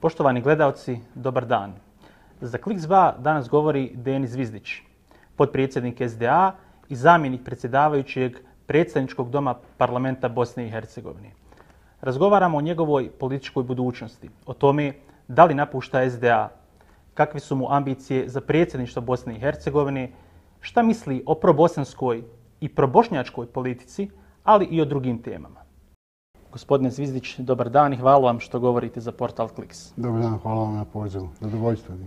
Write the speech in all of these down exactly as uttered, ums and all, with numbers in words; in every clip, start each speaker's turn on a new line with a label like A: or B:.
A: Poštovani gledalci, dobar dan. Za Kliks dva danas govori Denis Zvizdić, potpredsjednik S D A i zamjenik predsjedavajućeg predsjedničkog doma parlamenta Bosne i Hercegovine. Razgovaramo o njegovoj političkoj budućnosti, o tome da li napušta S D A, kakve su mu ambicije za predsjedništvo Bosne i Hercegovine, šta misli o probosanskoj i probošnjačkoj politici, ali i o drugim temama. Gospodine Zvizdić, dobar dan i hvala vam što govorite za portal Kliks.
B: Dobar dan, hvala vam na pozivu. Zadovoljstvo mi.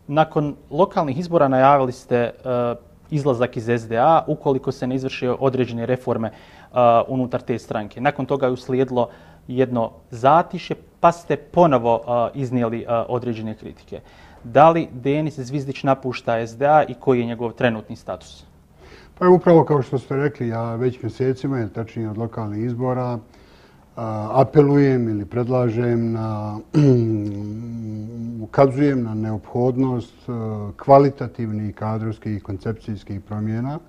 A: Nakon lokalnih izbora najavili ste uh, izlazak iz S D A ukoliko se ne izvrše određene reforme uh, unutar te stranke. Nakon toga je uslijedilo jedno zatišje, pa ste ponovo uh, iznijeli uh, određene kritike. Da li Denis Zvizdić napušta S D A i koji je njegov trenutni status?
B: Pa je upravo kao što ste rekli, ja već mjesecima, tačnije od lokalnih izbora, apelujem ili predlažem na, ukazujem na neophodnost kvalitativnih kadrovskih i koncepcijskih promjena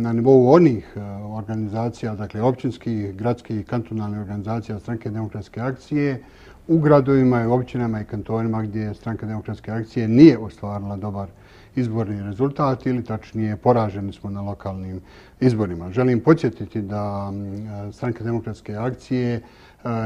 B: na nivou onih organizacija, dakle općinskih, gradskih i kantonalnih organizacija Stranke demokratske akcije u gradovima i općinama i kantonima gdje Stranka demokratske akcije nije ostvarila dobar izborni rezultat ili tačnije poraženi smo na lokalnim izborima. Želim podsjetiti da Stranka demokratske akcije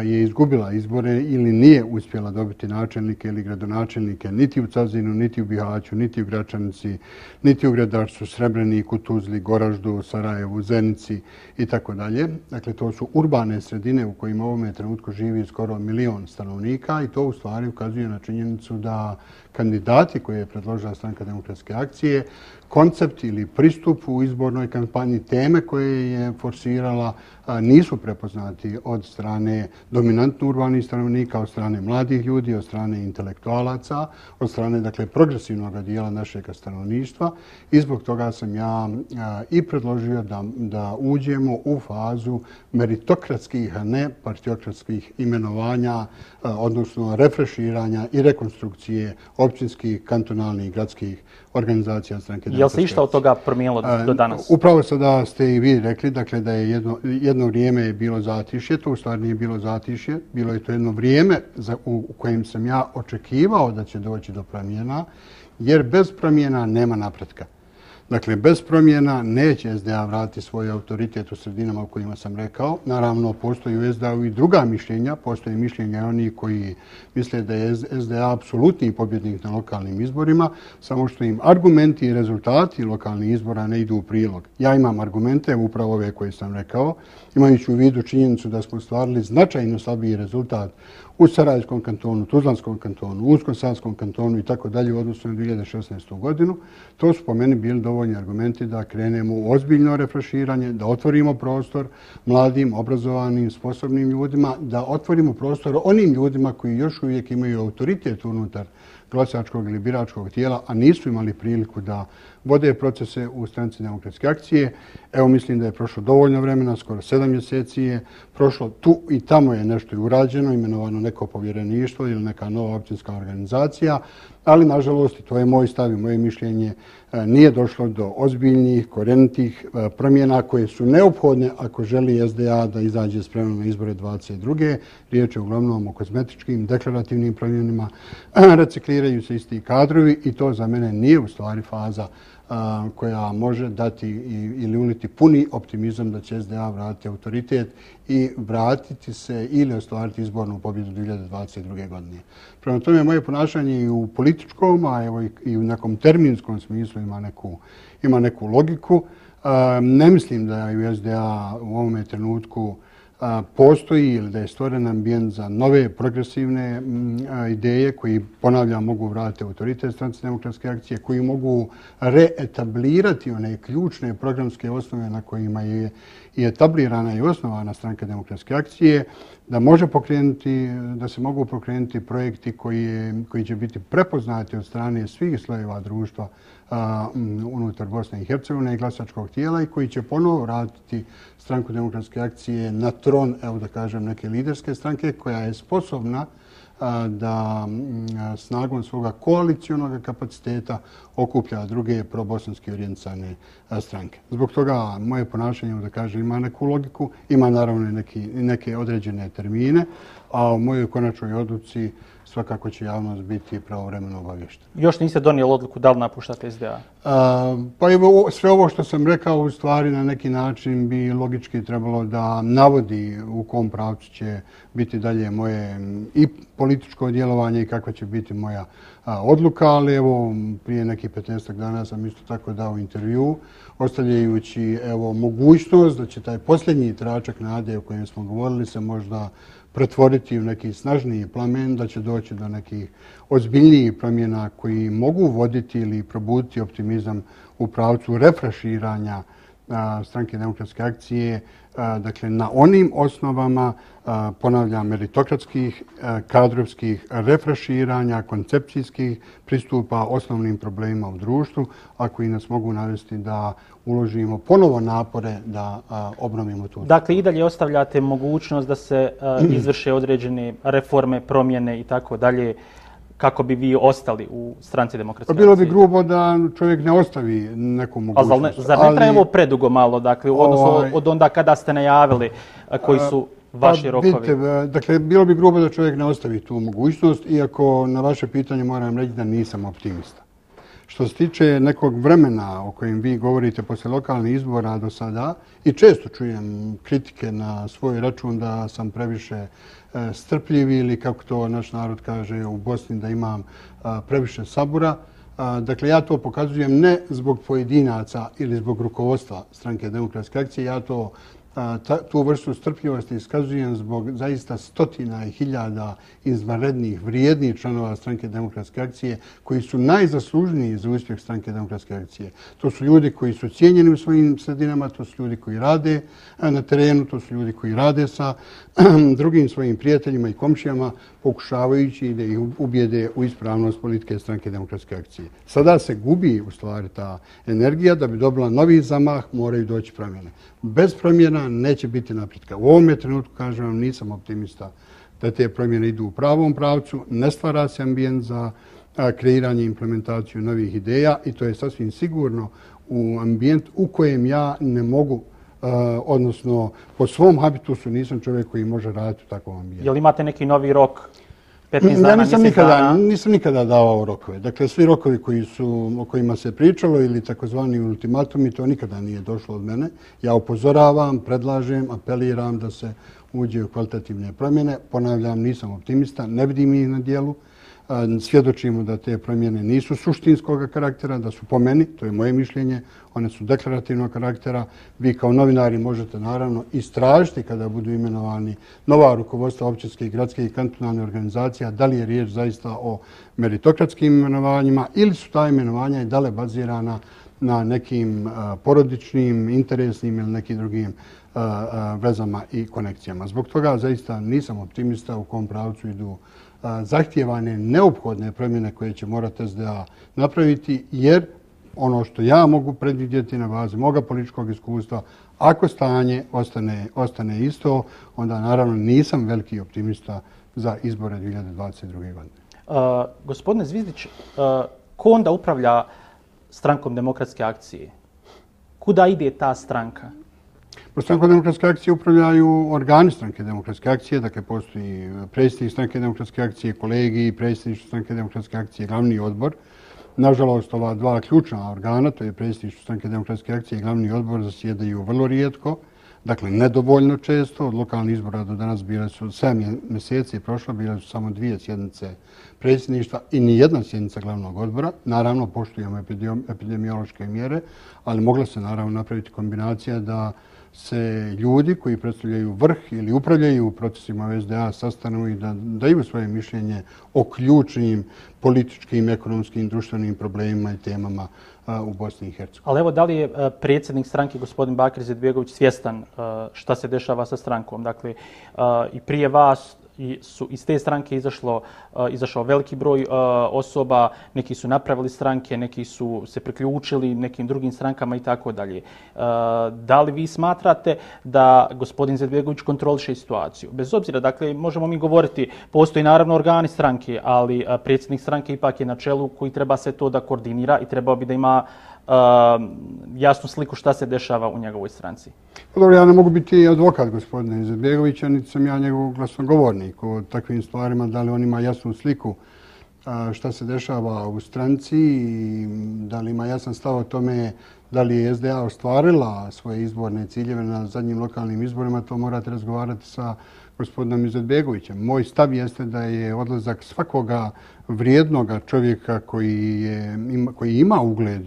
B: je izgubila izbore ili nije uspjela dobiti načelnike ili gradonačelnike niti u Cazinu, niti u Bihaću, niti u Gračanici, niti u Gredarcu, Srebreniku, Tuzli, Goraždu, Sarajevu, Zenici i tako dalje. Dakle, to su urbane sredine u kojima u ovome trenutku živi skoro milion stanovnika i to u stvari ukazuje na činjenicu da kandidati koje je predložila Stranka demokratske akcije, koncept ili pristup u izbornoj kampanji, teme koje je forsirala nisu prepoznati od strane dominantno urbanih stanovnika, od strane mladih ljudi, od strane intelektualaca, od strane dakle, progresivnog dijela našeg stanovništva i zbog toga sam ja i predložio da, da uđemo u fazu meritokratskih, a ne partiokratskih imenovanja, odnosno refreširanja i rekonstrukcije općinskih, kantonalnih i gradskih organizacija Stranke demokratske akcije.
A: Je li se išta od toga promijenilo do danas?
B: Upravo sada ste i vi rekli dakle, da je jedno, jedno vrijeme je bilo zatišje, to u stvari nije bilo zatišje, bilo je to jedno vrijeme za, u, u kojem sam ja očekivao da će doći do promjena, jer bez promjena nema napretka. Dakle, bez promjena neće S D A vratiti svoj autoritet u sredinama u kojima sam rekao. Naravno, postoji u S D A-u i druga mišljenja. Postoje mišljenja oni koji misle da je S D A apsolutni pobjednik na lokalnim izborima, samo što im argumenti i rezultati lokalnih izbora ne idu u prilog. Ja imam argumente, upravo ove koje sam rekao, imajući u vidu činjenicu da smo stvarili značajno slabiji rezultat u Sarajevskom kantonu, Tuzlanskom kantonu, Unsko-Sanskom kantonu i tako dalje u odnosu na dvije hiljade šesnaestu. godinu. To su po meni bili dovoljni argumenti da krenemo u ozbiljno refreširanje, da otvorimo prostor mladim, obrazovanim, sposobnim ljudima, da otvorimo prostor onim ljudima koji još uvijek imaju autoritet unutar glasačkog ili biračkog tijela, a nisu imali priliku da vode procese u Stranci demokratske akcije. Evo mislim da je prošlo dovoljno vremena, skoro sedam mjeseci je prošlo. Tu i tamo je nešto i urađeno, imenovano neko povjereništvo ili neka nova općinska organizacija, ali nažalost, i to je moj stav i moje mišljenje, nije došlo do ozbiljnih, korenitih promjena koje su neophodne ako želi S D A da izađe spremno na izbore dvadeset druge. Riječ je uglavnom o kozmetičkim, deklarativnim promjenama, recikliraju se isti kadrovi i to za mene nije u stvari faza koja može dati ili uliti puni optimizam da će S D A vratiti autoritet i vratiti se ili ostvariti izbornu pobjedu dvije hiljade dvadeset druge. godine. Prema tome, moje ponašanje i u političkom, a evo i u nekom terminskom smislu ima neku, ima neku logiku. Ne mislim da je u S D A u ovome trenutku postoji ili da je stvoren ambijent za nove progresivne ideje koji, ponavljam, mogu vratiti autoritet Stranci demokratske akcije, koji mogu reetablirati one ključne programske osnove na kojima je i etablirana i osnovana Stranka demokratske akcije, da može pokrenuti, da se mogu pokrenuti projekti koji, koji će biti prepoznati od strane svih slojeva društva a, unutar Bosne i Hercegovine i glasačkog tijela i koji će ponovo vratiti Stranku demokratske akcije na tron, evo da kažem, neke liderske stranke koja je sposobna da snagom svoga koalicionog kapaciteta okuplja druge probosanske orijentisane stranke. Zbog toga moje ponašanje, da kažem, ima neku logiku, ima naravno neki, neke određene termine, a u mojoj konačnoj odluci svakako će javnost biti pravovremeno obavještena.
A: Još niste donijeli odluku da li napuštate S D A?
B: A, pa evo, sve ovo što sam rekao u stvari na neki način bi logički trebalo da navodi u kom pravcu će biti dalje moje i političko djelovanje i kakva će biti moja a, odluka, ali evo prije nekih petnaestak dana sam isto tako dao intervju ostavljajući evo mogućnost da će taj posljednji tračak nade o kojem smo govorili se možda pretvoriti u neki snažniji plamen, da će doći do nekih ozbiljnijih promjena koji mogu voditi ili probuditi optimizam u pravcu refreširanja Stranke demokratske akcije, dakle na onim osnovama, ponavljam, meritokratskih, kadrovskih refreširanja, koncepcijskih pristupa osnovnim problemima u društvu, a koji nas mogu navesti da uložimo ponovo napore da obnovimo tu.
A: Dakle, i dalje ostavljate mogućnost da se izvrše određene reforme, promjene i tako dalje, kako bi vi ostali u Stranci demokratske akcije?
B: Bilo bi grubo da čovjek ne ostavi neku mogućnost.
A: Ali ne, zar ne traje ovo predugo malo, dakle, u odnosu ovaj, od onda kada ste najavili koji su vaši
B: pa,
A: rokovi?
B: Vidite, dakle, bilo bi grubo da čovjek ne ostavi tu mogućnost, iako na vaše pitanje moram reći da nisam optimista. Što se tiče nekog vremena o kojem vi govorite posle lokalnih izbora do sada, i često čujem kritike na svoj račun da sam previše strpljiv ili, kako to naš narod kaže u Bosni, da imam previše sabura. Dakle, ja to pokazujem ne zbog pojedinaca ili zbog rukovodstva Stranke demokratske akcije, ja to tu vrstu strpljivosti iskazujem zbog zaista stotina i hiljada izvanrednih, vrijednih članova Stranke demokratske akcije koji su najzaslužniji za uspjeh Stranke demokratske akcije. To su ljudi koji su cijenjeni u svojim sredinama, to su ljudi koji rade na terenu, to su ljudi koji rade sa drugim svojim prijateljima i komšijama, pokušavajući da ih ubijede u ispravnost politike Stranke demokratske akcije. Sada se gubi u stvari ta energija, da bi dobila novi zamah, moraju doći promjene. Bez promjena neće biti napretka. U ovome trenutku, kažem vam, nisam optimista da te promjene idu u pravom pravcu, ne stvara se ambijent za kreiranje i implementaciju novih ideja i to je sasvim sigurno u ambijent u kojem ja ne mogu, odnosno po svom habitusu nisam čovjek koji može raditi u takvom ambijentu.
A: Jel imate neki novi rok? petnaest dana,
B: ja nisam
A: mjesec
B: nikada,
A: dana?
B: nisam nikada davao rokove. Dakle, svi rokovi koji su, o kojima se pričalo ili takozvani ultimatumi, to nikada nije došlo od mene. Ja upozoravam, predlažem, apeliram da se uđe u kvalitativne promjene. Ponavljam, nisam optimista, ne vidim ih na dijelu. Svjedočimo da te promjene nisu suštinskog karaktera, da su po meni, to je moje mišljenje, one su deklarativnog karaktera. Vi kao novinari možete naravno istražiti kada budu imenovani nova rukovodstva općinske i gradske i kantonalne organizacija, da li je riječ zaista o meritokratskim imenovanjima ili su ta imenovanja i dale bazirana na nekim porodičnim, interesnim ili nekim drugim vezama i konekcijama. Zbog toga zaista nisam optimista u kom pravcu idu zahtijevane neophodne promjene koje će morati S D A napraviti, jer ono što ja mogu predvidjeti na bazi moga političkog iskustva, ako stanje ostane, ostane isto, onda naravno nisam veliki optimista za izbore dvije hiljade dvadeset druge. godine.
A: Uh, gospodine Zvizdić, uh, ko onda upravlja Strankom demokratske akcije? Kuda ide ta stranka?
B: Po Strankom demokratske akcije upravljaju organi Stranke demokratske akcije, dakle postoji predsjednik Stranke demokratske akcije, kolegi, predsjedništvo Stranke demokratske akcije, glavni odbor. Nažalost, ova dva ključna organa, to je predsjedništvo Stranke demokratske akcije i glavni odbor, zasjedaju vrlo rijetko, dakle nedovoljno često. Od lokalnih izbora do danas bile su sedam mjeseci prošlo, bile su samo dvije sjednice predsjedništva i ni jedna sjednica glavnog odbora. Naravno, poštujemo epidemiološke mjere, ali mogla se naravno napraviti kombinacija da se ljudi koji predstavljaju vrh ili upravljaju procesima S D A sastanu i da daju svoje mišljenje o ključnim političkim, ekonomskim, društvenim problemima i temama u Bosni i Hercegovini.
A: Ali evo, da li je predsjednik stranke, gospodin Bakir Izetbegović, svjestan šta se dešava sa strankom? Dakle, i prije vas i su iz te stranke izašlo, izašao veliki broj osoba, neki su napravili stranke, neki su se priključili nekim drugim strankama i tako dalje. Da li vi smatrate da gospodin Izetbegović kontroliše situaciju? Bez obzira, dakle, možemo mi govoriti, postoji naravno organi stranke, ali predsjednik stranke ipak je na čelu koji treba sve to da koordinira i trebao bi da ima Uh, jasnu sliku šta se dešava u njegovoj stranci.
B: Dobro, ja ne mogu biti advokat gospodina Izetbegovića, niti sam ja njegov glasnogovornik o takvim stvarima, da li on ima jasnu sliku uh, šta se dešava u stranci i da li ima jasan stav o tome da li je S D A ostvarila svoje izborne ciljeve na zadnjim lokalnim izborima, to morate razgovarati sa gospodinom Izetbegovićem. Moj stav jeste da je odlazak svakoga vrijednoga čovjeka koji, je, ima, koji ima ugled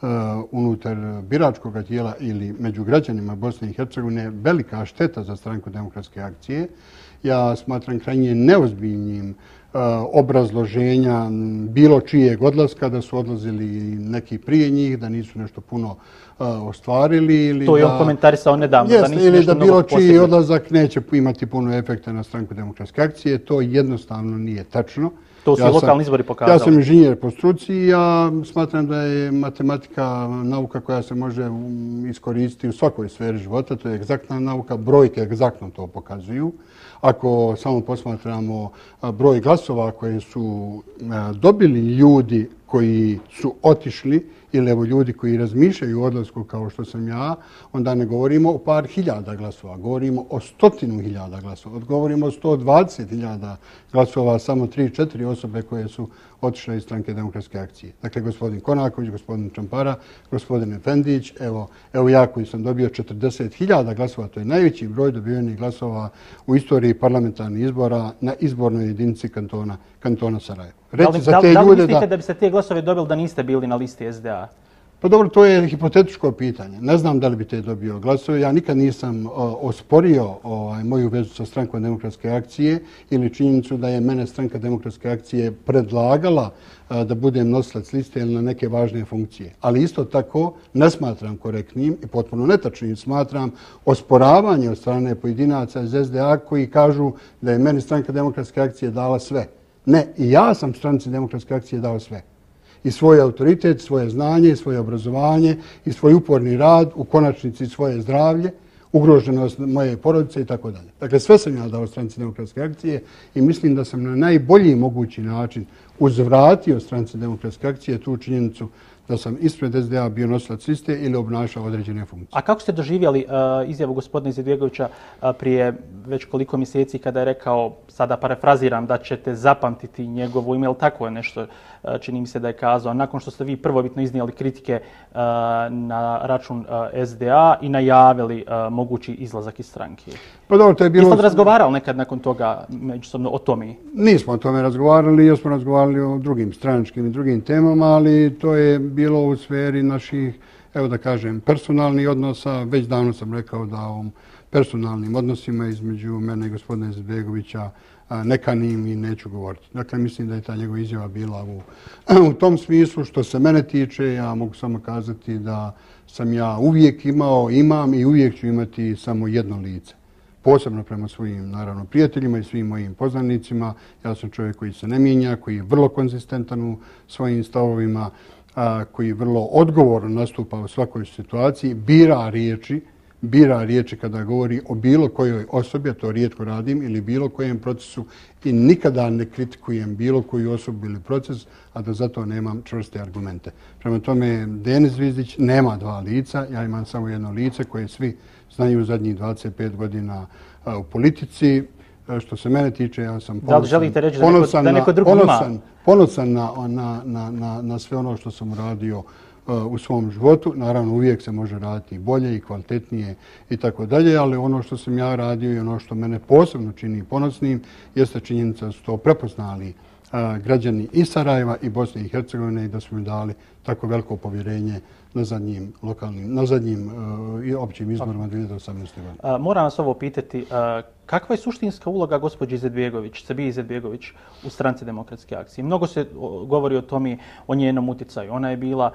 B: Uh, unutar biračkog tijela ili među građanima Bosne i Hercegovine velika šteta za Stranku demokratske akcije. Ja smatram krajnje neozbiljnim uh, obrazloženja bilo čijeg odlaska, da su odlazili neki prije njih, da nisu nešto puno uh, ostvarili. Ili
A: to je
B: da,
A: on komentarisao nedavno.
B: Jest,
A: da nisu
B: ili da bilo čiji
A: posebno.
B: odlazak neće imati puno efekta na Stranku demokratske akcije. To jednostavno nije tačno.
A: To su
B: ja
A: i lokalni izbori pokazali.
B: Ja sam inženjer po struci i ja smatram da je matematika nauka koja se može iskoristiti u svakoj sferi života. To je egzaktna nauka, brojke egzaktno to pokazuju. Ako samo posmatramo broj glasova koje su dobili ljudi koji su otišli ili evo ljudi koji razmišljaju o odlasku kao što sam ja, onda ne govorimo o par hiljada glasova, govorimo o stotinu hiljada glasova, govorimo o sto dvadeset hiljada glasova, samo tri četiri osobe koje su otišle iz Stranke demokratske akcije. Dakle, gospodin Konaković, gospodin Čampara, gospodin Efendić, evo, evo ja koji sam dobio četrdeset hiljada glasova, to je najveći broj dobivenih glasova u istoriji parlamentarnih izbora na izbornoj jedinici kantona, kantona Sarajevo.
A: Da li, da, da li mislite da... da biste te glasove dobili da niste bili na listi S D A?
B: Pa dobro, to je hipotetičko pitanje. Ne znam da li bi te dobio glasove. Ja nikad nisam o, osporio ovaj, moju vezu sa Strankom demokratske akcije ili činjenicu da je mene Stranka demokratske akcije predlagala a, da budem nosilac liste ili na neke važne funkcije. Ali isto tako ne smatram korektnim i potpuno netačnim smatram osporavanje od strane pojedinaca iz S D A koji kažu da je meni Stranka demokratske akcije dala sve. Ne, i ja sam Stranci demokratske akcije dao sve. I svoj autoritet, svoje znanje, svoje obrazovanje i svoj uporni rad, u konačnici svoje zdravlje, ugroženost moje porodice i tako dalje. Dakle, sve sam ja dao Stranci demokratske akcije i mislim da sam na najbolji mogući način uzvratio Stranci demokratske akcije tu činjenicu da sam ispred S D A bio nosilac liste ili obnašao određene funkcije.
A: A kako ste doživjeli uh, izjavu gospodina Izetbegovića uh, prije već koliko mjeseci kada je rekao, sada parafraziram, da ćete zapamtiti njegovo ime, ili tako je nešto, uh, čini mi se da je kazao, nakon što ste vi prvobitno iznijeli kritike uh, na račun uh, S D A i najavili uh, mogući izlazak iz stranke?
B: Pa dobro, to je bilo...
A: Jeste li razgovarali nekad nakon toga međusobno o tome?
B: Nismo o tome razgovarali, jer smo razgovarali o drugim stranačkim i drugim temama, ali to je bilo u sferi naših, evo da kažem, personalnih odnosa. Već davno sam rekao da o personalnim odnosima između mene i gospodina Izetbegovića ne kanim i neću govoriti. Dakle, mislim da je ta njegova izjava bila u, u tom smislu. Što se mene tiče, ja mogu samo kazati da sam ja uvijek imao, imam i uvijek ću imati samo jedno lice. Posebno prema svojim, naravno, prijateljima i svim mojim poznanicima. Ja sam čovjek koji se ne mijenja, koji je vrlo konzistentan u svojim stavovima, a, koji vrlo odgovorno nastupa u svakoj situaciji, bira riječi, bira riječi kada govori o bilo kojoj osobi, a to rijetko radim, ili bilo kojem procesu i nikada ne kritikujem bilo koju osobu ili proces, a da zato nemam čvrste argumente. Prema tome, Denis Zvizdić nema dva lica, ja imam samo jedno lice koje svi znaju u zadnjih dvadeset pet godina u politici. Što se mene tiče, ja sam ponosan,
A: da li želite reći da neko, da neko drugi
B: ponosan,
A: ima?
B: Ponosan na, na, na, na, na sve ono što sam radio u svom životu. Naravno, uvijek se može raditi i bolje i kvalitetnije i tako dalje, ali ono što sam ja radio i ono što mene posebno čini ponosnim jeste činjenica da su to prepoznali građani i Sarajeva i Bosne i Hercegovine i da smo im dali tako veliko povjerenje na zadnjim lokalnim, na zadnjim i općim izborima dvije hiljade osamnaeste. godine.
A: Moram vas ovo pitati, kakva je suštinska uloga gospođe Izetbegović, Sabije Izetbegović u Stranci demokratske akcije? Mnogo se govori o tome, o njenom utjecaju. Ona je bila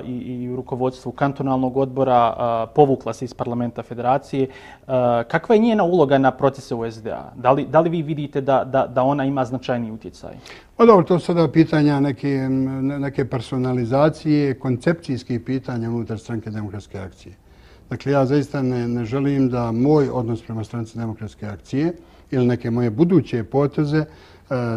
A: i, i u rukovodstvu kantonalnog odbora, povukla se iz parlamenta federacije. Kakva je njena uloga na procese u S D A? Da li, da li vi vidite da, da, da ona ima značajni utjecaj?
B: Pa dobro, to su sada pitanja neke, neke personalizacije, koncepcijskih pitanja unutar Stranke demokratske akcije. Dakle, ja zaista ne, ne želim da moj odnos prema Stranci demokratske akcije ili neke moje buduće poteze e,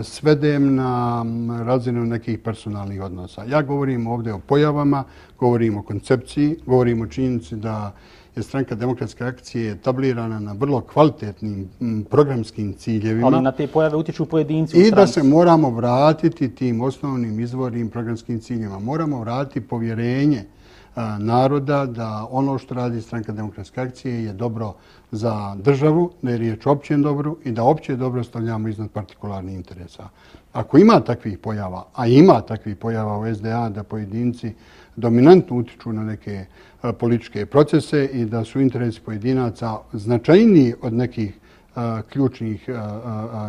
B: svedem na razinu nekih personalnih odnosa. Ja govorim ovdje o pojavama, govorim o koncepciji, govorim o činjenici da je Stranka demokratske akcije etablirana na vrlo kvalitetnim programskim ciljevima.
A: Ali na te pojave utječu pojedinci u
B: stranci.
A: I
B: da se moramo vratiti tim osnovnim izvornim programskim ciljevima. Moramo vratiti povjerenje naroda da ono što radi Stranka demokratske akcije je dobro za državu, da je riječ o općem dobru i da opće dobro stavljamo iznad partikularnih interesa. Ako ima takvih pojava, a ima takvih pojava u S D A da pojedinci dominantno utiču na neke političke procese i da su interesi pojedinaca značajniji od nekih ključnih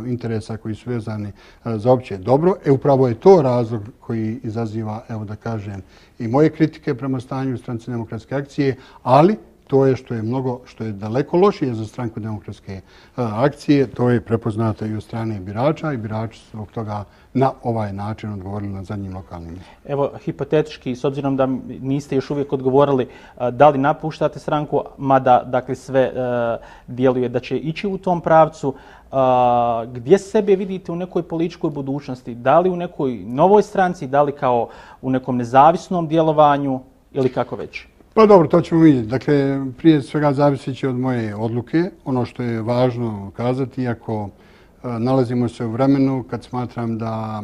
B: interesa koji su vezani za opće dobro. E upravo je to razlog koji izaziva, evo da kažem, i moje kritike prema stanju u Stranci demokratske akcije, ali to je što je mnogo, što je daleko lošije za Stranku demokratske akcije, to je prepoznato i od strane birača i birači su zbog toga na ovaj način odgovorili na zadnjim lokalnim.
A: Evo, hipotetički, s obzirom da niste još uvijek odgovorili da li napuštate stranku, mada dakle, sve djeluje da će ići u tom pravcu, gdje sebe vidite u nekoj političkoj budućnosti? Da li u nekoj novoj stranci, da li kao u nekom nezavisnom djelovanju ili kako već?
B: Pa dobro, to ćemo vidjeti. Dakle, prije svega zavisit će od moje odluke. Ono što je važno kazati, iako nalazimo se u vremenu kad smatram da,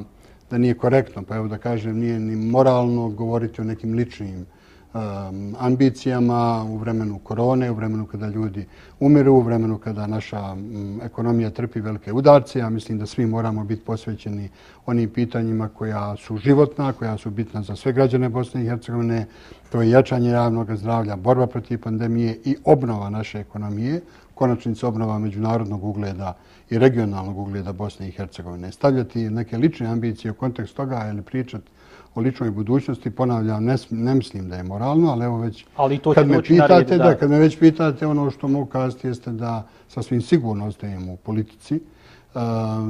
B: da nije korektno, pa evo da kažem, nije ni moralno govoriti o nekim ličnim um, ambicijama u vremenu korone, u vremenu kada ljudi umiru, u vremenu kada naša um, ekonomija trpi velike udarce. Ja mislim da svi moramo biti posvećeni onim pitanjima koja su životna, koja su bitna za sve građane Bosne i Hercegovine. To je jačanje javnog zdravlja, borba protiv pandemije i obnova naše ekonomije, konačnica obnova međunarodnog ugleda i regionalnog ugleda Bosne i Hercegovine. Stavljati neke lične ambicije u kontekst toga ili pričati o ličnoj budućnosti, ponavljam, ne, ne mislim da je moralno, ali evo već
A: ali to
B: kad me pitate,
A: naredi, da.
B: da, kad me već pitate, ono što mogu kazati jeste da sasvim sigurno ostajemo u politici uh,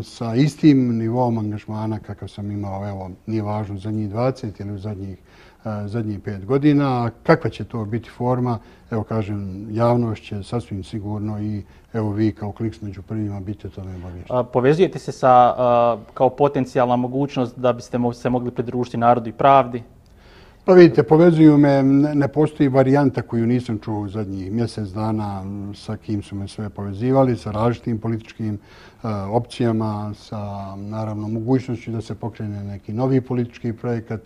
B: sa istim nivom angažmana kakav sam imao, evo, nije važno zadnjih dvadeset ili u zadnjih zadnjih pet godina. Kakva će to biti forma? Evo kažem, javnost će sasvim sigurno i evo vi kao Kliks među prvima biti o tome obavješteni.
A: Povezujete se sa, kao potencijalna mogućnost da biste se mogli pridružiti Narodu i pravdi?
B: Pa vidite, povezuju me, ne postoji varijanta koju nisam čuo u zadnjih mjesec dana sa kim su me sve povezivali, sa različitim političkim uh, opcijama, sa naravno mogućnošću da se pokrene neki novi politički projekat.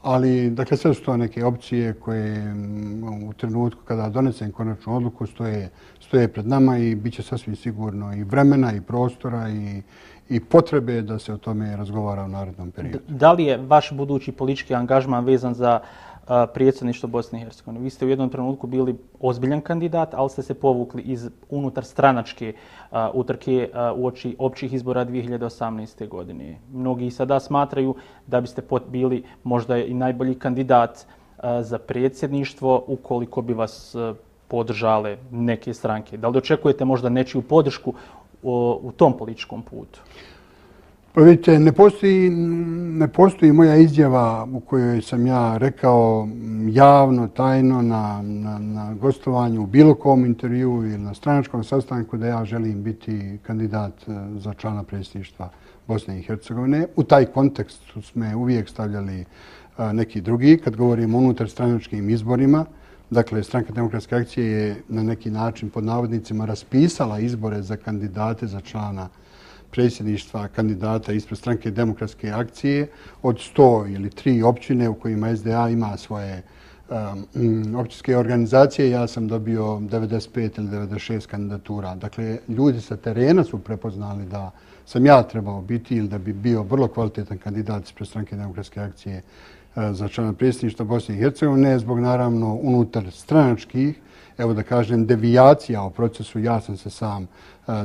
B: Ali, dakle, sve su to neke opcije koje u trenutku kada donesem konačnu odluku stoje, stoje pred nama i bit će sasvim sigurno i vremena i prostora i, i potrebe da se o tome razgovara u narednom periodu.
A: Da li je vaš budući politički angažman vezan za uh, predsjedništvo Bosne i Hercegovine? Vi ste u jednom trenutku bili ozbiljan kandidat, ali ste se povukli iz unutar stranačke uh, utrke uh, u oči općih izbora dvije hiljade osamnaeste. godine. Mnogi sada smatraju da biste bili možda i najbolji kandidat uh, za predsjedništvo ukoliko bi vas uh, podržale neke stranke. Da li očekujete možda nečiju podršku u, u tom političkom putu?
B: Pa vidite, ne postoji, ne postoji moja izjava u kojoj sam ja rekao javno, tajno na, na, na gostovanju u bilo kom intervju ili na stranačkom sastanku da ja želim biti kandidat za člana predsjedništva Bosne i Hercegovine. U taj kontekst smo uvijek stavljali neki drugi. Kad govorimo o unutar stranačkim izborima, dakle, Stranka demokratske akcije je na neki način pod navodnicima raspisala izbore za kandidate za člana predsjedništva kandidata ispred Stranke demokratske akcije od sto ili tri općine u kojima S D A ima svoje um, općinske organizacije. Ja sam dobio devedeset pet ili devedeset šest kandidatura. Dakle, ljudi sa terena su prepoznali da sam ja trebao biti ili da bi bio vrlo kvalitetan kandidat ispred Stranke demokratske akcije za člana predsjedništva Bosne i Hercegovine, zbog naravno unutar stranačkih, evo da kažem, devijacija o procesu, ja sam se sam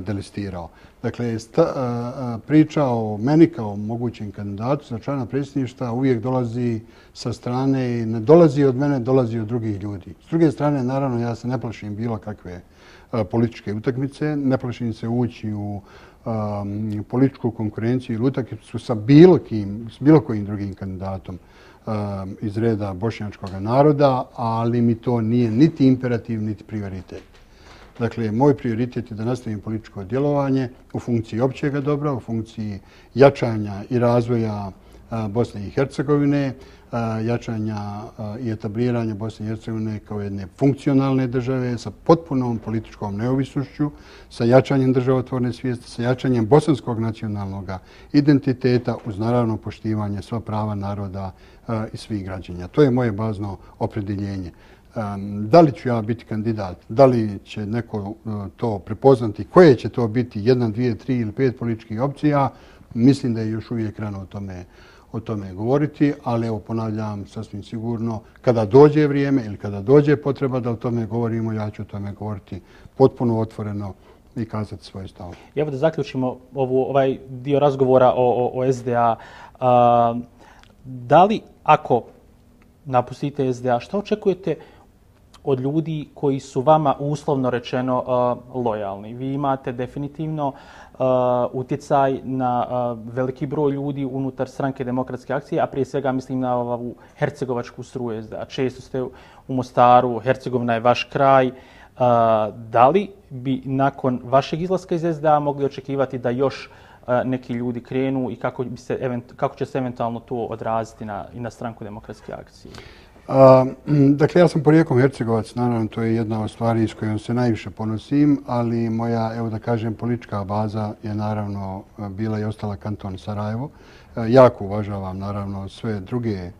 B: delistirao. Dakle, sta, priča o meni kao mogućem kandidatu za člana predsjedništva uvijek dolazi sa strane i ne dolazi od mene, dolazi od drugih ljudi. S druge strane, naravno, ja se ne plašim bilo kakve političke utakmice, ne plašim se ući u um, političku konkurenciju ili utakmicu sa bilo kim, s bilo kojim drugim kandidatom um, iz reda bošnjačkog naroda, ali mi to nije niti imperativ, niti prioritet. Dakle, moj prioritet je da nastavim političko djelovanje u funkciji općega dobra, u funkciji jačanja i razvoja Bosne i Hercegovine, jačanja i etabliranja Bosne i Hercegovine kao jedne funkcionalne države sa potpunom političkom neovisnošću, sa jačanjem državotvorne svijesti, sa jačanjem bosanskog nacionalnog identiteta uz naravno poštivanje sva prava naroda i svih građana. To je moje bazno opredjeljenje. Da li ću ja biti kandidat, da li će neko to prepoznati, koje će to biti, jedna, dvije, tri ili pet političkih opcija, mislim da je još uvijek rano o tome, o tome govoriti, ali evo ponavljam sasvim sigurno, kada dođe vrijeme ili kada dođe potreba da o tome govorimo, ja ću o tome govoriti potpuno otvoreno i kazati svoje stavove.
A: Evo da zaključimo ovu, ovaj dio razgovora o, o, o S D A. A, da li ako napustite S D A, što očekujete od ljudi koji su vama uslovno rečeno uh, lojalni? Vi imate definitivno uh, utjecaj na uh, veliki broj ljudi unutar Stranke demokratske akcije, a prije svega mislim na ovu hercegovačku struju S D A. Često ste u Mostaru, Hercegovina je vaš kraj. Uh, da li bi nakon vašeg izlaska iz S D A mogli očekivati da još uh, neki ljudi krenu i kako, bi se, event, kako će se eventualno to odraziti na, i na Stranku demokratske akcije?
B: Uh, dakle, ja sam porijeklom Hercegovac, naravno to je jedna od stvari s kojom se najviše ponosim, ali moja, evo da kažem, politička baza je naravno bila i ostala kanton Sarajevo. Uh, jako uvažavam naravno sve druge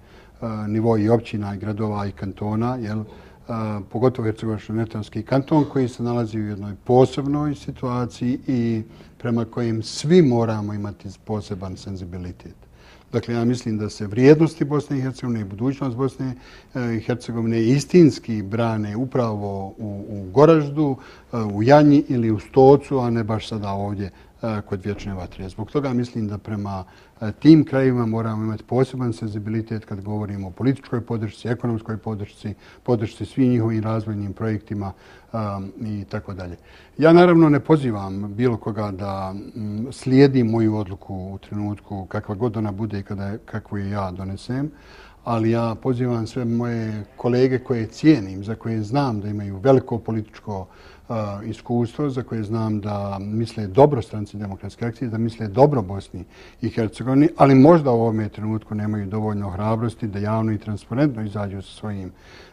B: uh, nivoji općina i gradova i kantona, jel? Uh, pogotovo Hercegovačko-neretvanski kanton koji se nalazi u jednoj posebnoj situaciji i prema kojim svi moramo imati poseban senzibilitet. Dakle, ja mislim da se vrijednosti Bosne i Hercegovine i budućnost Bosne i Hercegovine istinski brane upravo u, u Goraždu, u Janji ili u Stocu, a ne baš sada ovdje kod Vječne vatre. Zbog toga mislim da prema tim krajevima moramo imati poseban senzibilitet kad govorimo o političkoj podršci, ekonomskoj podršci, podršci svim njihovim razvojnim projektima um, i tako dalje. Ja naravno ne pozivam bilo koga da um, slijedi moju odluku u trenutku kakva god ona bude i kada, kakvu je ja donesem, ali ja pozivam sve moje kolege koje cijenim, za koje znam da imaju veliko političko uh, iskustvo, za koje znam da misle dobro Stranci demokratske akcije, da misle dobro Bosni i Hercegovini, ali možda u ovome trenutku nemaju dovoljno hrabrosti da javno i transparentno izađu sa svojim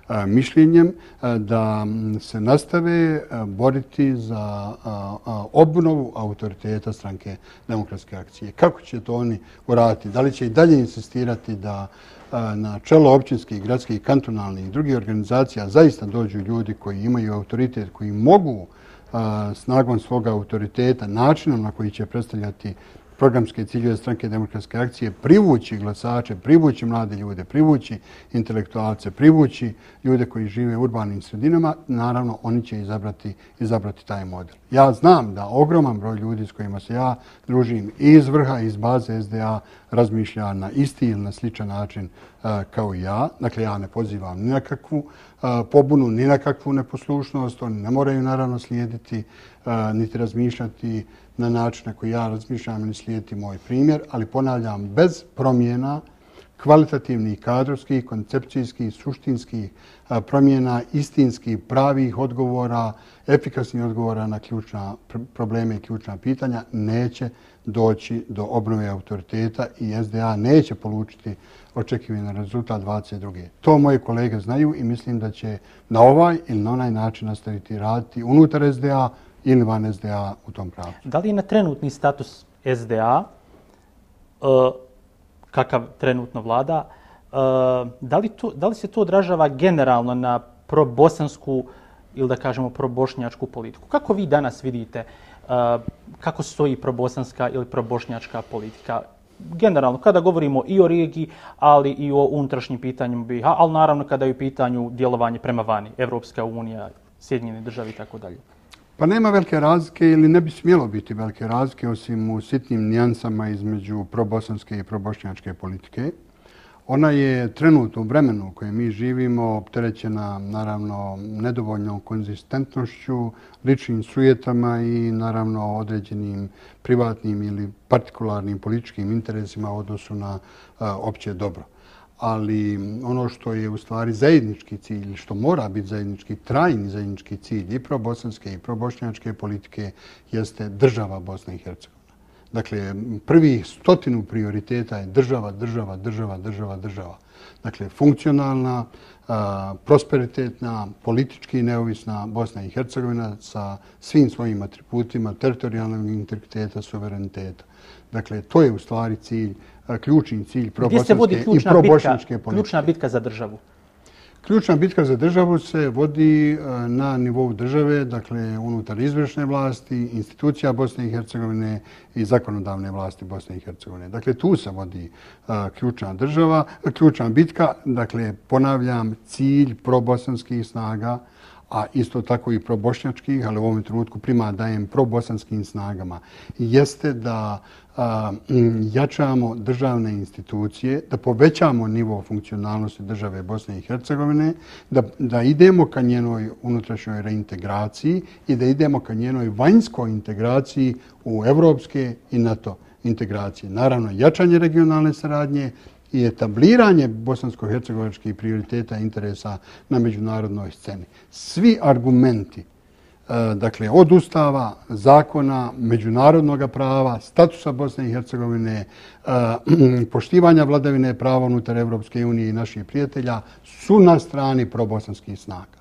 B: uh, mišljenjem, uh, da se nastave uh, boriti za uh, uh, obnovu autoriteta Stranke demokratske akcije. Kako će to oni uraditi? Da li će i dalje insistirati da na čelo općinskih, gradskih, kantonalnih i drugih organizacija zaista dođu ljudi koji imaju autoritet, koji mogu a, snagom svoga autoriteta, načinom na koji će predstavljati programske ciljeve Stranke demokratske akcije, privući glasače, privući mlade ljude, privući intelektualce, privući ljude koji žive u urbanim sredinama, naravno oni će izabrati, izabrati taj model. Ja znam da ogroman broj ljudi s kojima se ja družim i iz vrha, iz baze S D A razmišlja na isti ili na sličan način uh, kao i ja. Dakle, ja ne pozivam ni na kakvu uh, pobunu, ni na kakvu neposlušnost. Oni ne moraju naravno slijediti uh, niti razmišljati na način na koji ja razmišljam ili slijediti moj primjer, ali ponavljam, bez promjena kvalitativnih, kadrovskih, koncepcijskih, suštinskih promjena, istinskih, pravih odgovora, efikasnih odgovora na ključna probleme i ključna pitanja, neće doći do obnove autoriteta i S D A neće polučiti očekivani rezultat dvadeset druge. To moje kolege znaju i mislim da će na ovaj ili na onaj način nastaviti raditi unutar S D A ili van S D A u tom pravu.
A: Da li je na trenutni status S D A, uh, kakav trenutno vlada, uh, da, li to, da li se to odražava generalno na probosansku ili da kažemo probošnjačku politiku? Kako vi danas vidite kako stoji probosanska ili probošnjačka politika? Generalno, kada govorimo i o regiji, ali i o unutrašnjim pitanjima B i H, ali naravno kada je u pitanju djelovanje prema vani, Evropska unija, Sjedinjene države i tako dalje.
B: Pa nema velike razlike ili ne bi smjelo biti velike razlike osim u sitnim nijansama između probosanske i probošnjačke politike. Ona je trenutno u vremenu u kojem mi živimo opterećena naravno nedovoljnom konzistentnošću, ličnim sujetama i naravno određenim privatnim ili partikularnim političkim interesima u odnosu na a, opće dobro. Ali ono što je u stvari zajednički cilj, što mora biti zajednički, trajni zajednički cilj i probosanske i probošnjačke politike jeste država Bosne i Hercegovine. Dakle, prvih stotinu prioriteta je država, država, država, država, država. Dakle, funkcionalna, prosperitetna, politički neovisna Bosna i Hercegovina sa svim svojim atributima teritorijalnog integriteta, suvereniteta. Dakle, to je u stvari cilj, ključni cilj probosanske i probošnjačke politike.
A: Ključna bitka za državu?
B: Ključna bitka za državu se vodi na nivou države, dakle unutar izvršne vlasti, institucija Bosne i Hercegovine i zakonodavne vlasti Bosne i Hercegovine. Dakle, tu se vodi ključna država, ključna bitka, dakle ponavljam, cilj probosanskih snaga, a isto tako i probošnjačkih, ali u ovom trenutku primat dajem probosanskim snagama, jeste da a, jačamo državne institucije, da povećamo nivo funkcionalnosti države Bosne i Hercegovine, da, da idemo ka njenoj unutrašnjoj reintegraciji i da idemo ka njenoj vanjskoj integraciji u evropske i NATO integracije. Naravno, jačanje regionalne saradnje i etabliranje bosansko-hercegovačkih prioriteta interesa na međunarodnoj sceni. Svi argumenti, dakle, od ustava, zakona, međunarodnog prava, statusa Bosne i Hercegovine, poštivanja vladavine prava unutar Evropske unije i naših prijatelja su na strani probosanskih snaga.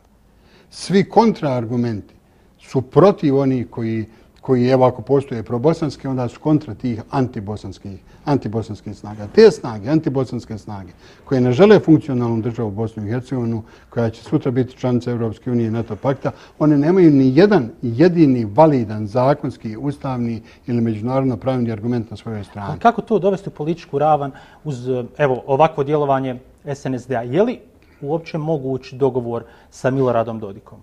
B: Svi kontraargumenti su protiv onih koji koji, evo, ako postoje probosanske, onda su kontra tih antibosanskih, antibosanskih snaga. Te snage, antibosanske snage, koje ne žele funkcionalnu državu Bosnu i Hercegovinu, koja će sutra biti članica Evropske unije i NATO pakta, one nemaju ni jedan jedini validan zakonski, ustavni ili međunarodno pravni argument na svojoj strani.
A: Ali kako to dovesti u političku ravan uz, evo, ovakvo djelovanje S N S D A? Je li uopće moguć dogovor sa Miloradom Dodikom?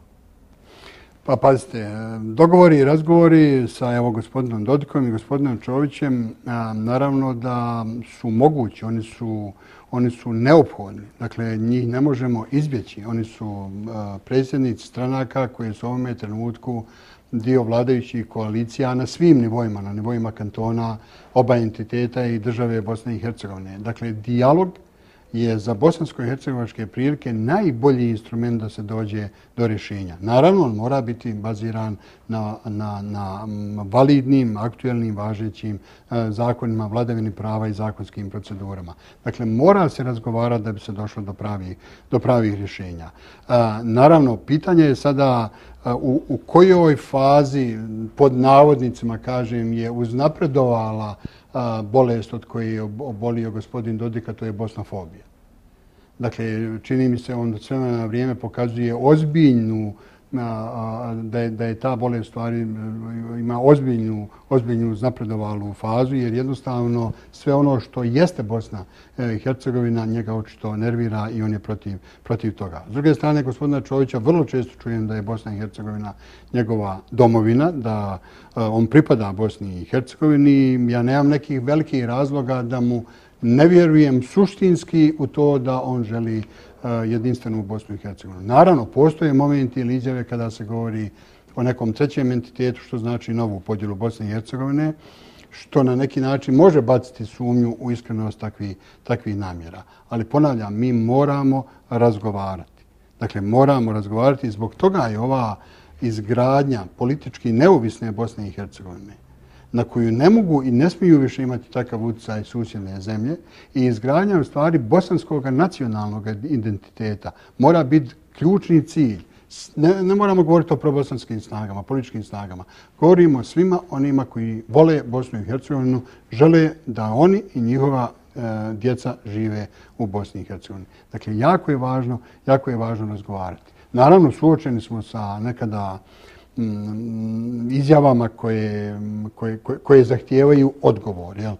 B: Pa pazite, dogovori i razgovori sa evo, gospodinom Dodikom i gospodinom Čovićem a, naravno da su mogući, oni su, oni su neophodni. Dakle, njih ne možemo izbjeći. Oni su a, predsjednici stranaka koji su u ovome trenutku dio vladajućih koalicija na svim nivoima, na nivoima kantona, oba entiteta i države Bosne i Hercegovine. Dakle, dijalog je za bosansko-hercegovačke prilike najbolji instrument da se dođe do rješenja. Naravno, on mora biti baziran na, na, na validnim, aktuelnim, važećim e, zakonima, vladavini prava i zakonskim procedurama. Dakle, mora se razgovarati da bi se došlo do pravih, do pravih rješenja. E, naravno, pitanje je sada e, u, u kojoj fazi, pod navodnicima kažem, je uznapredovala bolest od koje je obolio gospodin Dodik, a to je bosnofobija. Dakle, čini mi se on sve na vrijeme pokazuje ozbiljnu, da je, da je ta bolest stvari ima ozbiljnu, ozbiljnu uznapredovalu fazu, jer jednostavno sve ono što jeste Bosna i Hercegovina njega očito nervira i on je protiv, protiv toga. S druge strane, gospodina Čovića vrlo često čujem da je Bosna i Hercegovina njegova domovina, da on pripada Bosni i Hercegovini. Ja nemam nekih velikih razloga da mu ne vjerujem suštinski u to da on želi jedinstvenu Bosnu i Hercegovinu. Naravno, postoje momenti ili izjave kada se govori o nekom trećem entitetu, što znači novu podjelu Bosne i Hercegovine, što na neki način može baciti sumnju u iskrenost takvih, takvih namjera. Ali ponavljam, mi moramo razgovarati. Dakle, moramo razgovarati i zbog toga je ova izgradnja politički neovisne Bosne i Hercegovine, na koju ne mogu i ne smiju više imati takav utjecaj susjedne zemlje, i izgradnja u stvari bosanskog nacionalnog identiteta mora biti ključni cilj. Ne, ne moramo govoriti o probosanskim snagama, političkim snagama. Govorimo o svima onima koji vole Bosnu i Hercegovinu, žele da oni i njihova e, djeca žive u Bosni i Hercegovini. Dakle, jako je važno, jako je važno razgovarati. Naravno, suočeni smo sa nekada izjavama koje, koje, koje, koje zahtijevaju odgovor. Jel?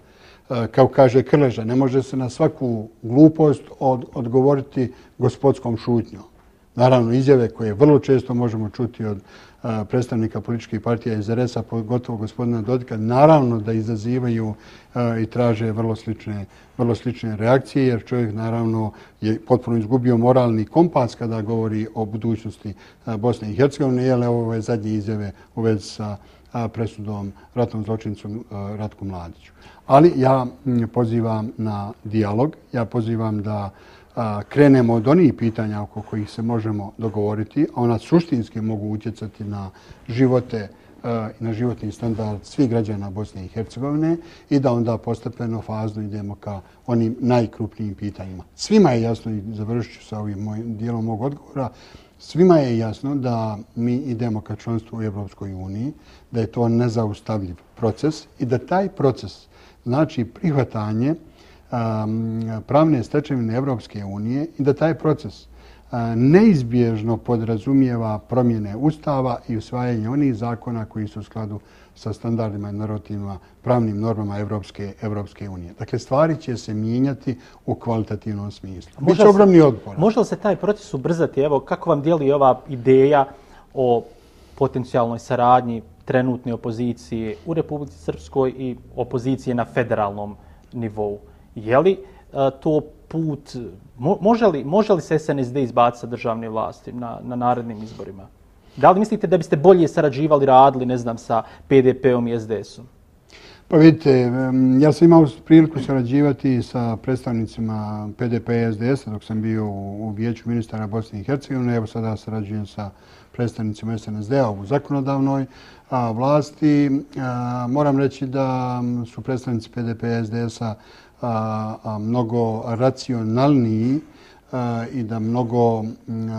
B: Kao kaže Krleža, ne može se na svaku glupost od, odgovoriti gospodskom šutnjom. Naravno, izjave koje vrlo često možemo čuti od a, predstavnika političkih partija iz R S A, pogotovo gospodina Dodika, naravno da izazivaju a, i traže vrlo slične, vrlo slične reakcije, jer čovjek naravno je potpuno izgubio moralni kompas kada govori o budućnosti a, Bosne i Hercegovine, jer ovo je zadnje izjave u vezi sa a, presudom ratnom zločincom a, Ratku Mladiću. Ali ja m, pozivam na dijalog, ja pozivam da krenemo od onih pitanja oko kojih se možemo dogovoriti, a ona suštinski mogu utjecati na živote i na životni standard svih građana Bosne i Hercegovine i da onda postepeno, fazno idemo ka onim najkrupnijim pitanjima. Svima je jasno, i završit ću sa ovim mojim dijelom mog odgovora, svima je jasno da mi idemo ka članstvu u Evropskoj uniji, da je to nezaustavljiv proces i da taj proces znači prihvatanje pravne stečevine Evropske unije i da taj proces neizbježno podrazumijeva promjene Ustava i usvajanje onih zakona koji su u skladu sa standardima i normativima, pravnim normama Evropske, Evropske unije. Dakle, stvari će se mijenjati u kvalitativnom smislu. Biće ogromni otpor.
A: Može li se taj proces ubrzati? Evo, kako vam dijeli ova ideja o potencijalnoj saradnji trenutne opozicije u Republici Srpskoj i opozicije na federalnom nivou? Je li uh, to put, mo, može, li, može li se S N S D izbaciti sa državne vlasti na, na narednim izborima? Da li mislite da biste bolje sarađivali, radili, ne znam, sa P D P-om i S D S-om?
B: Pa vidite, ja sam imao priliku sarađivati sa predstavnicima P D P i S D S-a dok sam bio u, u Vijeću ministara Bosne i Hercegovine. Evo sada sarađujem sa predstavnicima S N S D-a u zakonodavnoj a, vlasti. A, moram reći da su predstavnici P D P i S D S-a A, a, mnogo racionalniji a, i da mnogo a,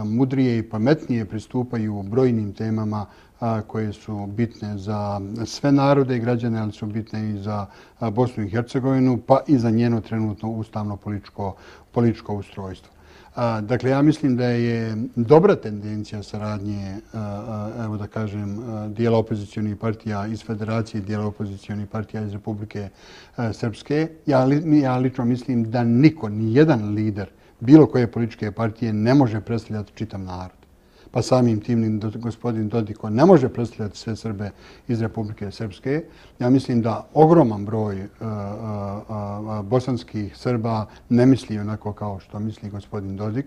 B: mudrije i pametnije pristupaju brojnim temama a, koje su bitne za sve narode i građane, ali su bitne i za a, Bosnu i Hercegovinu, pa i za njeno trenutno ustavno političko, političko ustrojstvo. A, dakle, ja mislim da je dobra tendencija saradnje, a, a, evo da kažem, a, dijela opozicionih partija iz Federacije, dijela opozicionih partija iz Republike a, Srpske. Ja, li, ja lično mislim da niko, ni jedan lider bilo koje političke partije ne može predstavljati čitav narod. Pa samim tim ni gospodin Dodiko ne može predstavljati sve Srbe iz Republike Srpske. Ja mislim da ogroman broj uh, uh, uh, bosanskih Srba ne misli onako kao što misli gospodin Dodik.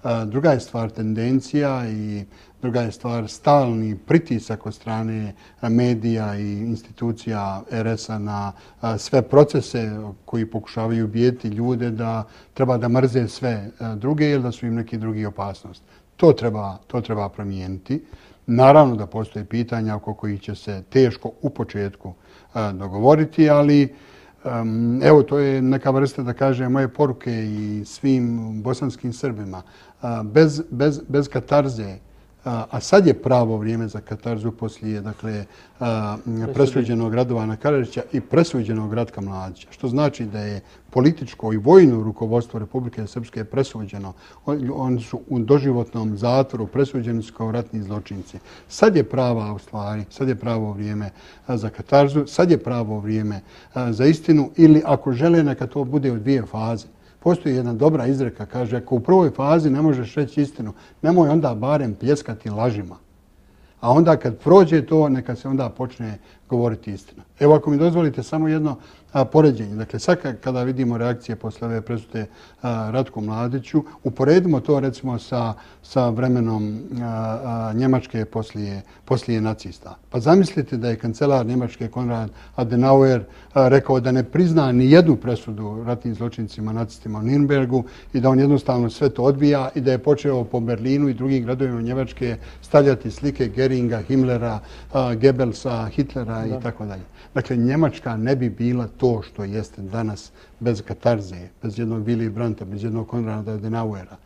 B: Uh, druga je stvar tendencija i druga je stvar stalni pritisak od strane medija i institucija R S A na uh, sve procese koji pokušavaju ubijeti ljude da treba da mrze sve uh, druge ili da su im neki drugi opasnost. To treba, to treba promijeniti. Naravno da postoje pitanja oko kojih će se teško u početku a, dogovoriti, ali um, evo to je neka vrsta, da kažem, moje poruke i svim bosanskim Srbima. A, bez, bez, bez katarze, a, a sad je pravo vrijeme za katarzu poslije, dakle, a, presuđenog Radovana Karadžića i presuđenog Ratka Mladića, što znači da je političko i vojno rukovodstvo Republike Srpske presuđeno. Oni su u doživotnom zatvoru, presuđeni su kao ratni zločinci. Sad je prava u stvari, sad je pravo vrijeme za katarzu, sad je pravo vrijeme za istinu ili ako žele neka to bude u dvije faze. Postoji jedna dobra izreka, kaže, ako u prvoj fazi ne možeš reći istinu, nemoj onda barem pljeskati lažima. A onda kad prođe to, neka se onda počne govoriti istina. Evo ako mi dozvolite samo jedno a, poređenje. Dakle, sad kada vidimo reakcije posle ove presude a, Ratku Mladiću, uporedimo to recimo sa, sa vremenom a, a, Njemačke poslije, poslije nacista. Pa zamislite da je kancelar Njemačke Konrad Adenauer a, rekao da ne prizna ni jednu presudu ratnim zločincima nacistima u Nürnbergu i da on jednostavno sve to odbija i da je počeo po Berlinu i drugim gradovima Njemačke stavljati slike Geringa, Himmlera, a, Goebbelsa, Hitlera i tako dalje. Dakle, Njemačka ne bi bila to što jeste danas bez katarze, bez jednog Willy Brandta, bez jednog Konrada Adenauera.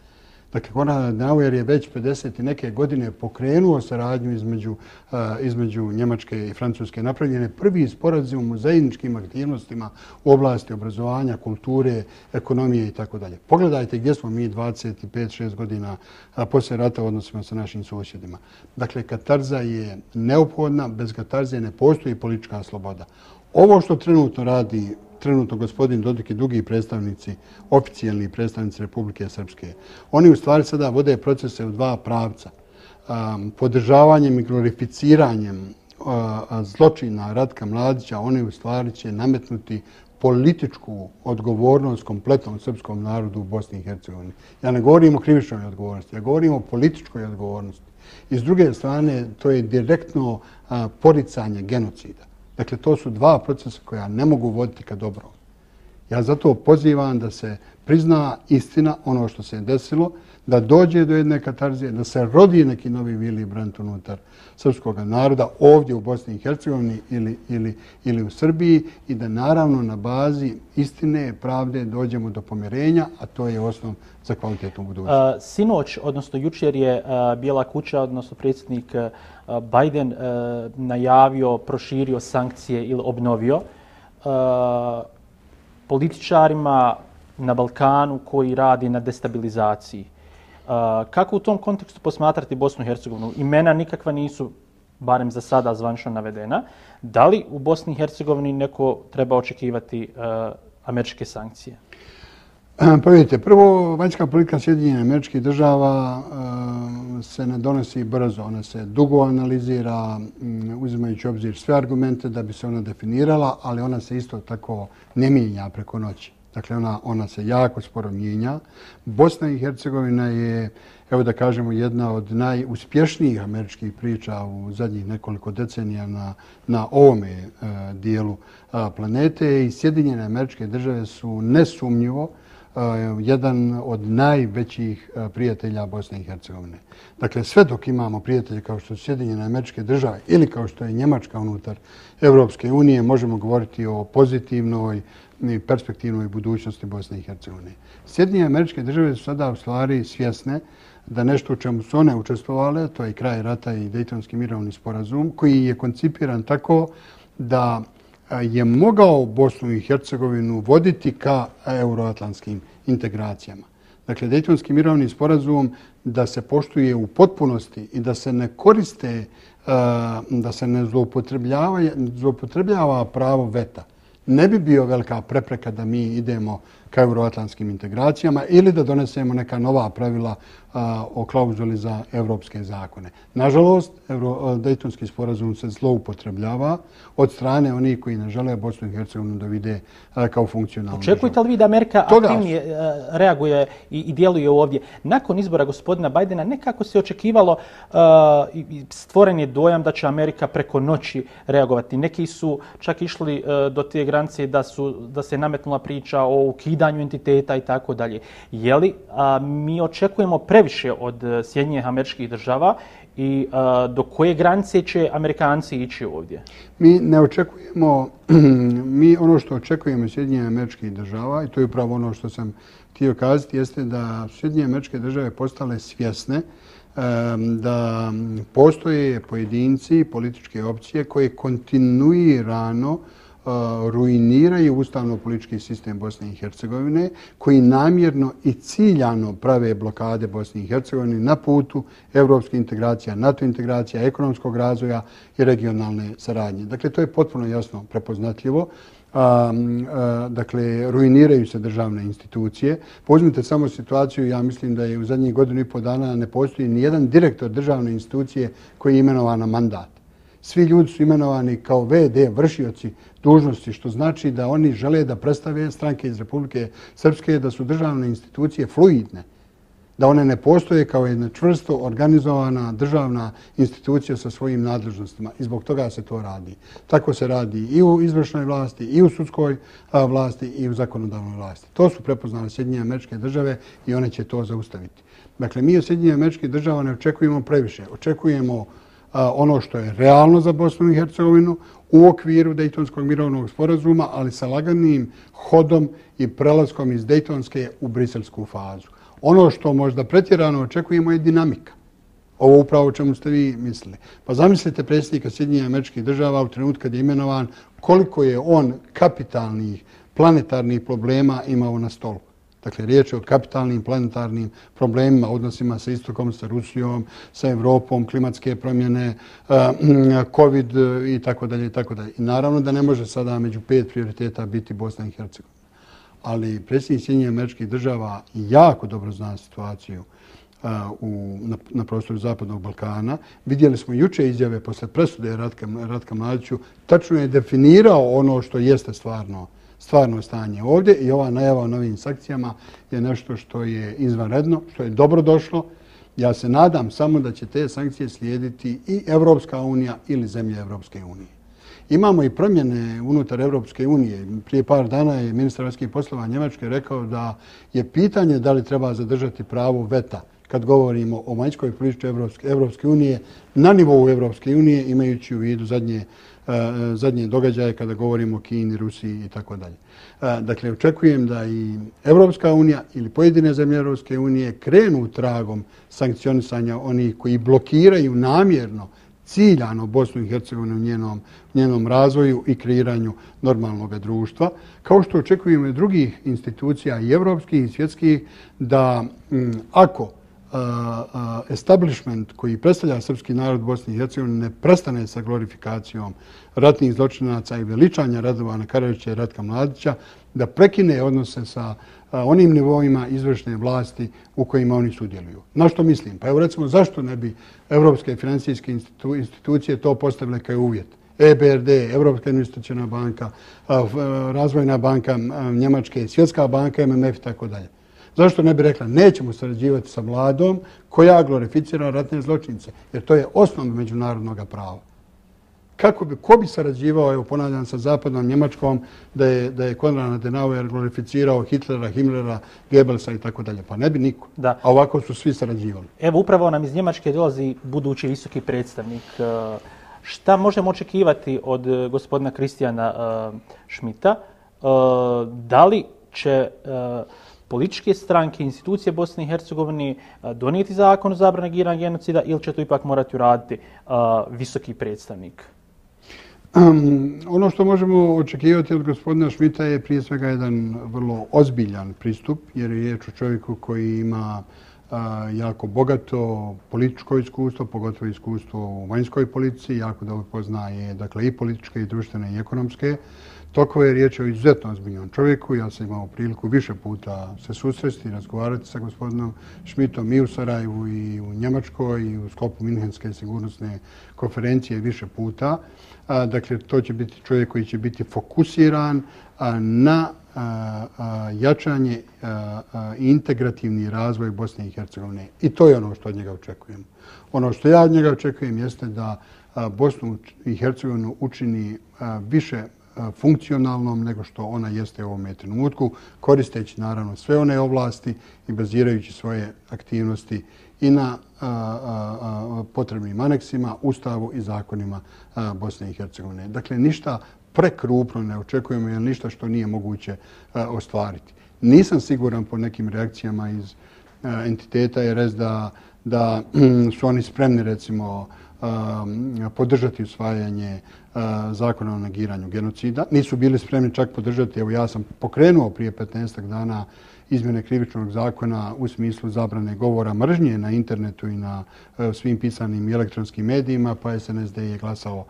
B: Dakle, Konrad Adenauer je već pedeset i neke godine pokrenuo saradnju između, uh, između Njemačke i Francuske. Napravljen je prvi sporazum o zajedničkim aktivnostima u oblasti obrazovanja, kulture, ekonomije i tako dalje. Pogledajte gdje smo mi dvadeset pet šest godina uh, poslije rata u odnosima sa našim susjedima. Dakle, katarza je neophodna, bez katarze ne postoji politička sloboda. Ovo što trenutno radi trenutno gospodin Dodik i drugi predstavnici, oficijalni predstavnici Republike Srpske, oni u stvari sada vode procese u dva pravca. Um, podržavanjem i glorificiranjem uh, zločina Ratka Mladića, oni u stvari će nametnuti političku odgovornost kompletnom srpskom narodu u Bosni i Hercegovini. Ja ne govorim o krivičnoj odgovornosti, ja govorim o političkoj odgovornosti. I s druge strane, to je direktno uh, poricanje genocida. Dakle, to su dva procesa koja ne mogu voditi ka dobrom. Ja zato pozivam da se prizna istina, ono što se je desilo, da dođe do jedne katarzije, da se rodi neki novi Willy Brandt unutar srpskog naroda ovdje u Bosni i Hercegovini ili, ili, ili u Srbiji i da naravno na bazi istine, pravde dođemo do pomirenja, a to je osnov za kvalitetnu budućnost.
A: Uh, sinoć, odnosno jučer je uh, Bijela kuća, odnosno predsjednik uh, Biden uh, najavio, proširio sankcije ili obnovio uh, političarima na Balkanu koji radi na destabilizaciji. Uh, kako u tom kontekstu posmatrati Bosnu i Hercegovinu? Imena nikakva nisu, barem za sada, zvanično navedena. Da li u Bosni i Hercegovini neko treba očekivati uh, američke sankcije?
B: Pa vidite, prvo, vanjska politika Sjedinjenih Američkih Država uh, se ne donosi brzo. Ona se dugo analizira, um, uzimajući obzir sve argumente da bi se ona definirala, ali ona se isto tako ne mijenja preko noći. Dakle, ona, ona se jako sporo mijenja. Bosna i Hercegovina je, evo da kažemo, jedna od najuspješnijih američkih priča u zadnjih nekoliko decenija na, na ovome uh, dijelu uh, planete i Sjedinjene Američke Države su nesumnjivo jedan od najvećih prijatelja Bosne i Hercegovine. Dakle, sve dok imamo prijatelje kao što su Sjedinjene Američke Države ili kao što je Njemačka unutar Evropske unije, možemo govoriti o pozitivnoj i perspektivnoj budućnosti Bosne i Hercegovine. Sjedinjene Američke Države su sada u stvari svjesne da nešto u čemu su one učestvovale, to je kraj rata i Dejtonski mirovni sporazum, koji je koncipiran tako da je mogao Bosnu i Hercegovinu voditi ka euroatlantskim integracijama. Dakle, Dejtonski mirovni sporazum da se poštuje u potpunosti i da se ne koriste, da se ne zloupotrebljava, zloupotrebljava pravo veta, ne bi bio velika prepreka da mi idemo ka euroatlantskim integracijama ili da donesemo neka nova pravila a, o klauzuli za evropske zakone. Nažalost, Dejtonski sporazum se zloupotrebljava od strane onih koji ne žele Bosnu i Hercegovinu da vide a, kao funkcionalnu državu.
A: Očekujete li vi da Amerika aktivnije reaguje i, i djeluje ovdje? Nakon izbora gospodina Bidena nekako se očekivalo a, i stvoren je dojam da će Amerika preko noći reagovati. Neki su čak išli a, do te granice da, su, da se nametnula priča o ukidanju entiteta i tako dalje. Je li a, mi očekujemo previše od Sjedinjenih Američkih Država i a, do koje granice će Amerikanci ići ovdje?
B: Mi ne očekujemo, mi ono što očekujemo od Sjedinjenih Američkih Država, i to je upravo ono što sam htio kazati, jeste da Sjedinjene Američke Države postale svjesne da postoje pojedinci, političke opcije koje kontinuirano ruiniraju ustavno-politički sistem Bosne i Hercegovine, koji namjerno i ciljano prave blokade Bosne i Hercegovine na putu evropske integracija, NATO integracija, ekonomskog razvoja i regionalne saradnje. Dakle, to je potpuno jasno prepoznatljivo. A, a, dakle, ruiniraju se državne institucije. Uzmite samo situaciju, ja mislim da je u zadnjih godinu i pol dana ne postoji ni jedan direktor državne institucije koji je imenovan na mandat. Svi ljudi su imenovani kao ve de, vršioci dužnosti, što znači da oni žele da predstave stranke iz Republike Srpske da su državne institucije fluidne, da one ne postoje kao jedna čvrsto organizovana državna institucija sa svojim nadležnostima i zbog toga se to radi. Tako se radi i u izvršnoj vlasti, i u sudskoj vlasti, i u zakonodavnoj vlasti. To su prepoznale Sjedinjene Američke Države i one će to zaustaviti. Dakle, mi od Sjedinjenih Američkih Država ne očekujemo previše. Očekujemo ono što je realno za Bosnu i Hercegovinu u okviru Dejtonskog mirovnog sporazuma, ali sa laganim hodom i prelaskom iz Dejtonske u briselsku fazu. Ono što možda pretjerano očekujemo je dinamika. Ovo upravo o čemu ste vi mislili. Pa zamislite predsjednika Sjedinjenih Američkih Država u trenutku kad je imenovan, koliko je on kapitalnih planetarnih problema imao na stolu. Dakle, riječ je o kapitalnim planetarnim problemima, odnosima sa Istokom, sa Rusijom, sa Evropom, klimatske promjene, COVID i tako dalje i tako dalje. I naravno da ne može sada među pet prioriteta biti Bosna i Hercegovina. Ali predsjednik Sjedinjenih Američkih Država jako dobro zna situaciju u, na, na prostoru Zapadnog Balkana. Vidjeli smo juče izjave posle presude Ratka, Ratka Mladiću. Tačno je definirao ono što jeste stvarno, stvarno stanje ovdje i ova najava o novim sankcijama je nešto što je izvanredno, što je dobro došlo. Ja se nadam samo da će te sankcije slijediti i Evropska unija ili zemlje Evropske unije. Imamo i promjene unutar Evropske unije. Prije par dana je ministar vanjskih poslova Njemačke rekao da je pitanje da li treba zadržati pravo veta kad govorimo o vanjskoj politici Evropske, Evropske unije na nivou Evropske unije, imajući u vidu zadnje, uh, zadnje događaje kada govorimo o Kini, Rusiji i tako dalje. Dakle, očekujem da i Evropska unija ili pojedine zemlje Evropske unije krenu tragom sankcionisanja onih koji blokiraju namjerno ciljano Bosnu i Hercegovinu u njenom, njenom razvoju i kreiranju normalnog društva, kao što očekujemo i drugih institucija i evropskih i svjetskih da m, ako uh, uh, establishment koji predstavlja srpski narod Bosne i Hercegovine ne prestane sa glorifikacijom ratnih zločinaca i veličanja Radovana Karađića i Ratka Mladića, da prekine odnose sa onim nivoima izvršne vlasti u kojima oni sudjeluju. Na što mislim? Pa evo recimo zašto ne bi evropske financijske institu, institucije to postavile kao uvjet? E B R D, Evropska investiciona banka, Razvojna banka Njemačke, Svjetska banka, M M F i tako dalje. Zašto ne bi rekla nećemo sarađivati sa vladom koja glorificira ratne zločince? Jer to je osnov međunarodnog prava. Kako bi, ko bi sarađivao, evo ponavljam, sa zapadnom Njemačkom da je, da je Konrad Adenauer glorificirao Hitlera, Himmlera, Goebbelsa i tako dalje? Pa ne bi niko. Da. A ovako su svi sarađivali.
A: Evo, upravo nam iz Njemačke dolazi budući visoki predstavnik. Šta možemo očekivati od gospodina Kristijana Schmidta? Da li će političke stranke, institucije Bosne i Hercegovine donijeti zakon o zabrani negiranja genocida ili će to ipak morati uraditi visoki predstavnik?
B: Um, ono što možemo očekivati od gospodina Schmidta je prije svega jedan vrlo ozbiljan pristup, jer je riječ o čovjeku koji ima uh, jako bogato političko iskustvo, pogotovo iskustvo u vanjskoj politici, jako dobro poznaje dakle, i političke, i društvene, i ekonomske. Toko je riječ o izuzetno ozbiljnom čovjeku. Ja sam imao priliku više puta se susresti i razgovarati sa gospodinom Schmidtom i u Sarajevu i u Njemačkoj i u sklopu Minhenske sigurnosne konferencije više puta. Dakle, to će biti čovjek koji će biti fokusiran na jačanje i integrativni razvoj Bosne i Hercegovine. I to je ono što od njega očekujem. Ono što ja od njega očekujem jeste da Bosnu i Hercegovinu učini više funkcionalnom nego što ona jeste u ovom trenutku, koristeći naravno sve one oblasti i bazirajući svoje aktivnosti i na a, a, a, potrebnim aneksima, ustavu i zakonima a, Bosne i Hercegovine. Dakle, ništa prekrupno ne očekujemo, jer ništa što nije moguće a, ostvariti. Nisam siguran po nekim reakcijama iz a, entiteta R S da, da su oni spremni, recimo, podržati usvajanje zakona o negiranju genocida. Nisu bili spremni čak podržati, evo ja sam pokrenuo prije petnaestak dana izmjene krivičnog zakona u smislu zabrane govora mržnje na internetu i na svim pisanim i elektronskim medijima, pa S N S D je glasao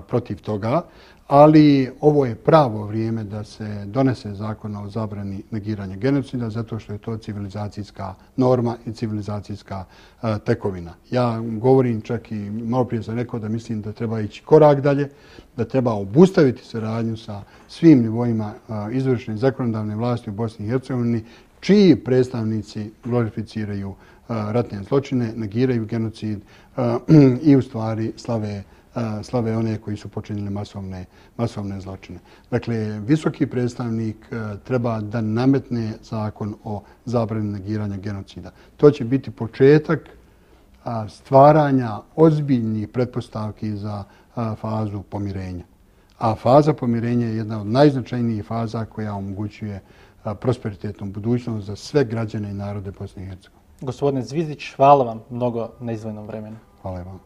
B: protiv toga. Ali ovo je pravo vrijeme da se donese zakon o zabrani negiranja genocida zato što je to civilizacijska norma i civilizacijska uh, tekovina. Ja govorim čak i malo prije sam rekao da mislim da treba ići korak dalje, da treba obustaviti saradnju sa svim nivoima uh, izvršne i zakonodavne vlasti u Bosni i Hercegovini, čiji predstavnici glorificiraju uh, ratne zločine, negiraju genocid uh, i u stvari slave slave one koji su počinili masovne, masovne zločine. Dakle, visoki predstavnik treba da nametne zakon o zabrani negiranja genocida. To će biti početak stvaranja ozbiljnih pretpostavki za fazu pomirenja. A faza pomirenja je jedna od najznačajnijih faza koja omogućuje prosperitetnu budućnost za sve građane i narode Bosne i Hercegovine.
A: Gospodine Zvizdić, hvala vam mnogo na izdvojenom vremenu.
B: Hvala vam.